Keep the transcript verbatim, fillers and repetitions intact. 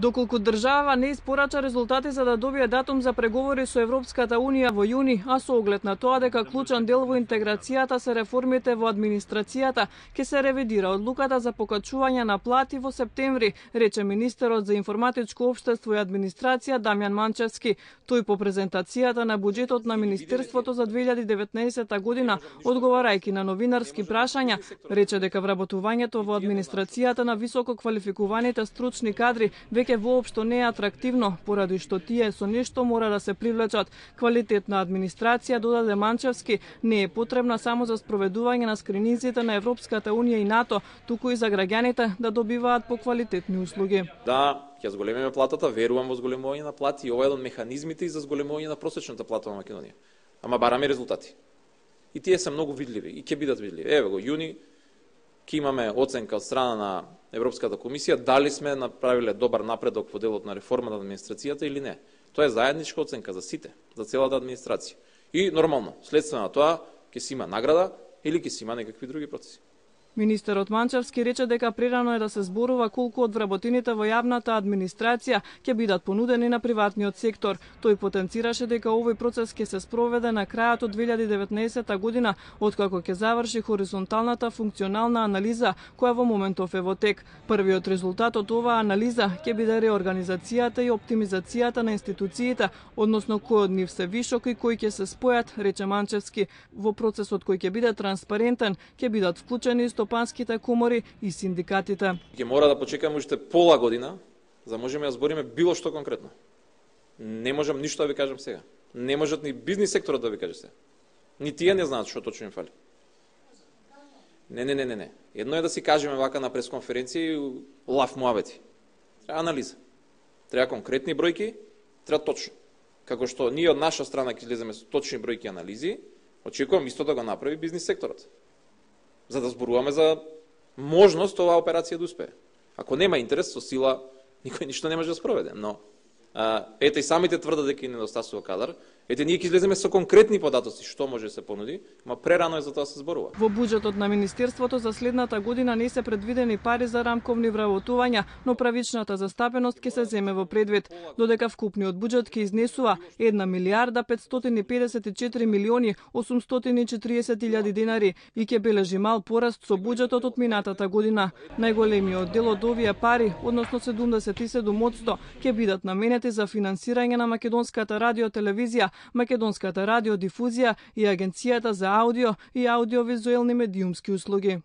Доколку држава не испорача резултати за да добие датум за преговори со Европската Унија во јуни, а со оглед на тоа дека клучен дел во интеграцијата се реформите во администрацијата, ќе се ревидира одлуката за покачување на плати во септември, рече министерот за информатичко општество и администрација Дамјан Манчевски. Тој по презентацијата на буџетот на Министерството за две илјади и деветнаесетта година, одговарајќи на новинарски прашања, рече дека вработувањето во администрацијата на високо квалификуваните стручни кадри веќе воопшто не е атрактивно, поради што тие со нешто мора да се привлечат. Квалитетна администрација, додаде Манчевски, не е потребна само за спроведување на скрининзите на Европската Унија и НАТО, туку и за граѓаните да добиваат поквалитетни услуги. Да, ќе зголемиме платата, верувам во зголемување на плати и ова е еден од механизмите и за зголемување на просечната плата во Македонија. Ама бараме резултати. И тие се многу видливи и ќе бидат видливи. Еве го јуни ќе имаме оценка од страна на Европската комисија дали сме направиле добар напредок во делот на реформата на администрацијата или не. Тоа е заедничка оценка за сите, за целата администрација. И нормално, следствено на тоа ќе се има награда или ќе се има некакви други процеси. Министерот Манчевски рече дека прерано е да се зборува колку од вработените во јавната администрација ќе бидат понудени на приватниот сектор. Тој потенцираше дека овој процес ќе се спроведе на крајот од две илјади и деветнаесетта година, откако ќе заврши хоризонталната функционална анализа, која во моментов е во тек. Првиот резултат од оваа анализа ќе биде реорганизацијата и оптимизацијата на институциите, односно кој од нив се вишок и кои ќе се спојат, рече Манчевски. Во процесот кој ќе биде транспарентен, ќе бидат вклучени стопанските комори и синдикатите. Ќе мора да почекаме уште пола година за да можеме да збориме било што конкретно. Не можам ништо да ви кажам сега. Не можат ни бизнис секторот да ви каже сега. Ни тие не знаат што точно им фали. Не, не, не, не, не. Едно е да си кажеме вака на пресконференција и лав муабети. Треба анализа. Треба конкретни бројки, треба точно. Како што ние од наша страна ќе излеземе со точни бројки и анализи, очекувам исто да го направи бизнис секторот, за да зборуваме за можност оваа операција да успее. Ако нема интерес со сила, никој ништо не може да спроведе. Но а, ете и самите тврдат дека им недостасува кадар. Ете ние ќе излеземе со конкретни податоци што може да се понуди, ма прерано е за тоа да се зборува. Во буџетот на Министерството за следната година не се предвидени пари за рамковни вработувања, но правичната застапеност ќе се земе во предвид, додека вкупниот буџет ќе изнесува една милијарда петстотини и педесет и четири милиони осумстотини и четиридесет илјади денари и ќе бележи мал пораст со буџетот од минатата година. Најголемиот дел од овие пари, односно седумдесет и седум одсто, ќе бидат наменети за финансирање на Македонската радиотелевизија, Македонската радиодифузија и Агенцијата за аудио и аудиовизуелни медиумски услуги.